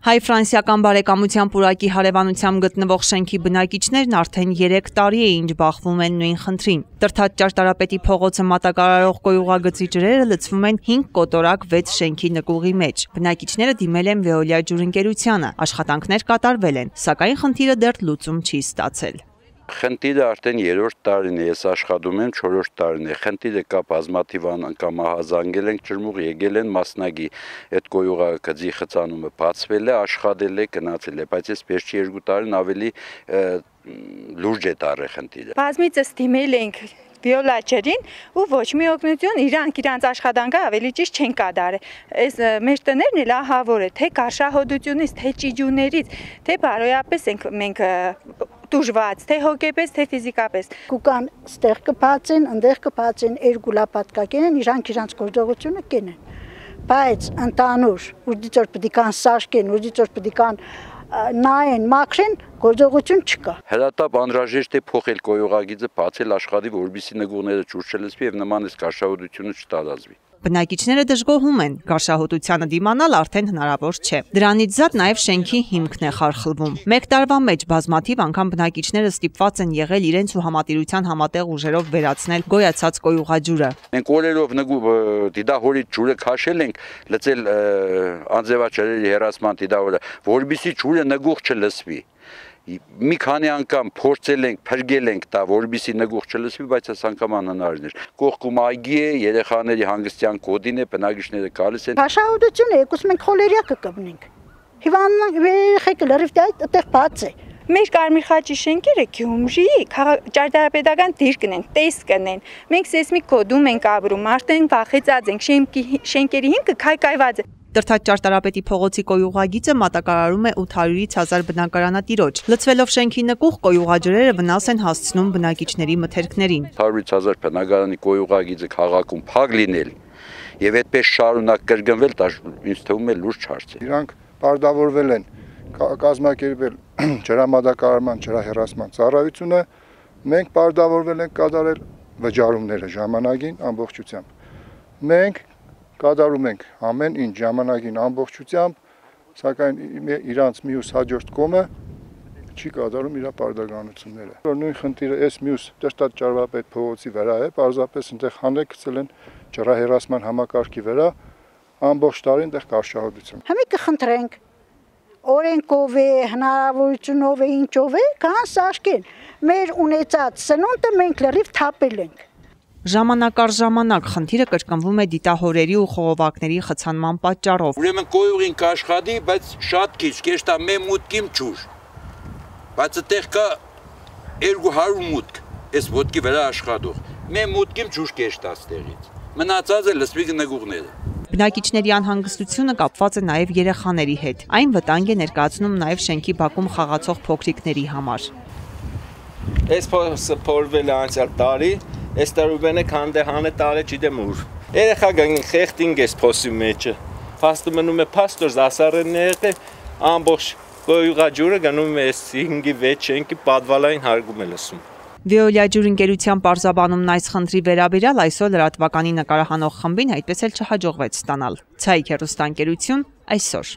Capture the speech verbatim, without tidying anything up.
Հայ-ֆրանսիական բարեկամության պուրակի հարևանությամբ գտնվող շենքի բնակիչներն արդեն երեք տարի է ինչ բախվում են նույն խնդրին։ Տրթած ճարտարապետի փողոցը մատակարարող կոյուղագծի ջրերը լցվում են հինգ կոտորակ վեց շենքի նկուղի մեջ։ Բնակիչները դիմել են Veolia ջուրընկերությանը, աշխատանքներ կատարվել են, սակայն խնդիրը դեռ լուծում չի ստացել։ Խնդիրը արդեն երրորդ տարին է, ես աշխատում եմ, չորրորդ տարին է, խնդիրը կա բազմաթիվ անգամ հազանգել ենք ջրմուղ, եկել են մասնագի, այդ կոյուղագծի խցանումը բացվել է, աշխատել է, գնացել է, բայց այս վերջի երկու տարին ավելի լուրջ է տարել խնդիրը։ Բազմիցս դիմել ենք Veolia ջրին ու ոչ մի օգնություն իրանք իրանց աշխատանքը ավելի ճիշտ չեն կատարել։ Այս մեր տներն էլ ահավոր է, թե կարշահոդությունից, թե ճիջուներից, թե բարոյապես ենք մենք դժվար, թե հոգեպես, թե ֆիզիկապես։ Կուկան ստեղ կբացեն, այնտեղ կբացեն, երկու լապատկակեն, իրանք իրանց գործողությունը կենեն։ Բայց ընդանուր, ուժդիճ որ պետք է կան սարքեն, ուժդիճ որ պետք է կան նայեն, մաքրեն, գործողություն չկա։ Հրատապ անհրաժեշտ է փոխել կոյուղագիծը, բացել աշխատի, որպեսզի նկուղները ջուր չլցվի եւ նման այս կարշահոտությունը չտարածվի։ Բնակիչները դժգոհում են, կարշահոտությանը դիմանալ արդեն հնարավոր չէ։ Դրանից զատ նաև շենքի հիմքն է խարխլվում։ Մեկ տարվա մեջ բազմաթիվ անգամ բնակիչները ստիպված են եղել իրենց ու համատիրության համատեղ ուժերով վերացնել գոյացած կոյուղաջուրը։ Մենք օրերով դիդահորից ջուրը քաշել ենք, լցել անձևաչարերի հեռացման դիդահորը, որպեսզի ջուրը նկուղ չլցվի։ Մի քանի անգամ փորձել ենք, փրկել ենք դա, որպեսզի նկուղ չլցվի, բայց այս անգամ անհնարին էր։ Կողքում այգի է, երեխաների հանգստյան կոդին է, բնակիչները գալիս են։ Աշխատությունը եկուս մենք խոլերիա կկպնենք։ Հիվանդան երեխեքը լրիվ այդտեղ բաց է։ Մեր Կարմիր խաչի շենքերը Գյումրիի ճարտարապետական դիր կնեն, տեսք կնեն։ Մենք սեյսմիկ կոդում ենք ապրում, արդեն վախեցած ենք, շենքերի հիմքը քայքայված է։ Տրթած ճարտարապետի փողոցի կոյուղագիծը մատակարարում է ութ հարյուրից հազար բնակարանատիրոջ։ Լցվելով շենքի նկուղ, կոյուղաջրերը վնաս են հասցնում բնակիչների մթերքներին։ հարյուրից հազար բնակարանի կոյուղագիծը քաղաքում փակ լինել եւ այդպես շարունակ կրկնվել, դա ինձ թվում է լուրջ հարց է։ Իրանք բարդավորվել են կազմակերպել ջրամատակարարման, ջրահեռացման ծառայությունը, մենք բարդավորվել ենք կատարել վճարումները ժամանակին ամբողջությամբ։ Մենք կատարում ենք ամեն ինչ ժամանակին ամբողջությամբ, սակայն իրանց մյուս հաջորդ կողմը չի կատարում իր պարտականությունները։ Որ նույն խնդիրը այս մյուս տրտած ճարտարապետ փողոցի վրա է, պարզապես այնտեղ հանել գցել են ջրահեռացման համակարգի վրա, ամբողջ տարի այնտեղ կարշահոտություն։ Հիմա կխնդրենք օրենքով է, հնարավորությունով է, ինչով է, կան սարքեն։ Մեր ունեցած սնունդը մենք լրիվ թափել ենք։ Ժամանակ առ ժամանակ խնդիրը կրկնվում է դիտահորերի ու խողովակների խցանման պատճառով։ Ուրեմն կոյուղին կաշխատի, բայց շատ քիչ, կեշտա մե մուտքիմ ջուր։ Բայց այդտեղ կա երկու հարյուր մուտք, այս ոտքի վրա աշխատող։ Մե մուտքիմ ջուր կեշտա ստեղից։ Մնացածը լսվի նկուղները։ Բնակիչների անհանգստությունը կապված է նաև երեխաների հետ։ Այն վտանգ է ներկայացնում նաև շենքի բակում խաղացող փոքրիկների համար։ Այս փոսը փորվել է անցյալ տարի, այս տարուբենը քանդեհանը տարե չդեմ ուր։ Երեխա գային խեղտինգ էս փոսի մեջը։ Փաստը մնում է փաստոր ասարենն է եղել, ամբողջ կոյուղաջուրը գնում է այս հինգի վեց շենքի պատվալային հարգում է լսում։ Veolia ջուրընկերության պարզաբանումն այս խնդրի վերաբերյալ այսօր լրատվականի նկարահանող խմբին այդպես էլ չհաջողվեց ստանալ։ Ցայք հեռուստաընկերություն այսօր։